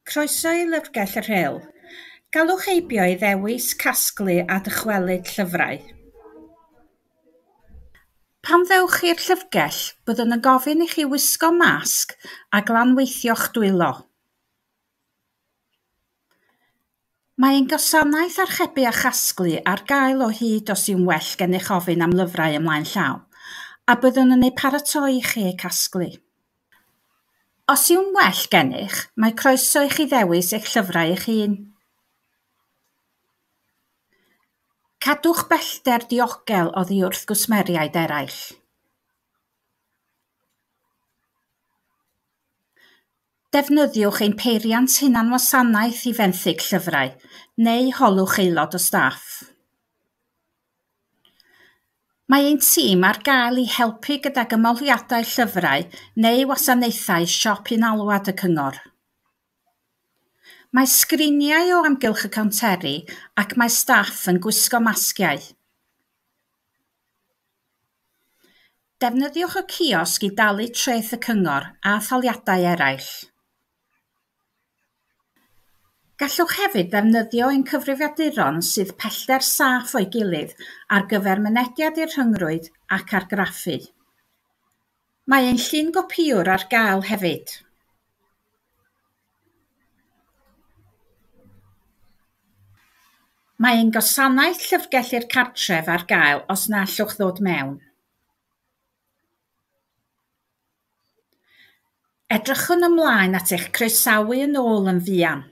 Croeso i Lyfrgell y Rhyl. Galwch heibio i ddewis, casglu a dychwelyd llyfrau. Pan ddewch i'r llyfrgell, byddwn yn gofyn i chi wisgo masg a glanweithio'ch dwylo. Mae ein gwasanaeth archebu a chasglu ar gael o hyd os yw'n well gennych ofyn am lyfrau ymlaen llaw, a byddwn yn eu paratoi i chi eu casglu. Os yw'n well gennych, mae croeso i chi ddewis eich llyfrau eich hun. Cadwch bellter diogel oddi wrth gwsmeriaid eraill. Defnyddiwch ein peiriant hunanwasanaeth i fenthyg llyfrau, neu holwch aelod o staff. Mae ein tîm ar gael i helpu gydag ymholiadau llyfrau neu wasanaethau siop un alwad y cyngor. Mae sgriniau o amgylch y cownteri ac mae staff yn gwisgo masgiau. Defnyddiwch y ciosg i dalu treth y cyngor a thaliadau eraill. Gallwch hefyd ddefnyddio ein cyfrifiaduron sydd pellter saff o'i gilydd ar gyfer mynediad i'r rhyngrwyd ac argraffu. Mae ein llungopïwr ar gael hefyd. Mae ein gwasanaeth llyfrgell i'r cartref ar gael os na allwch ddod mewn. Edrychwn ymlaen at eich croesawu yn ôl yn fuan.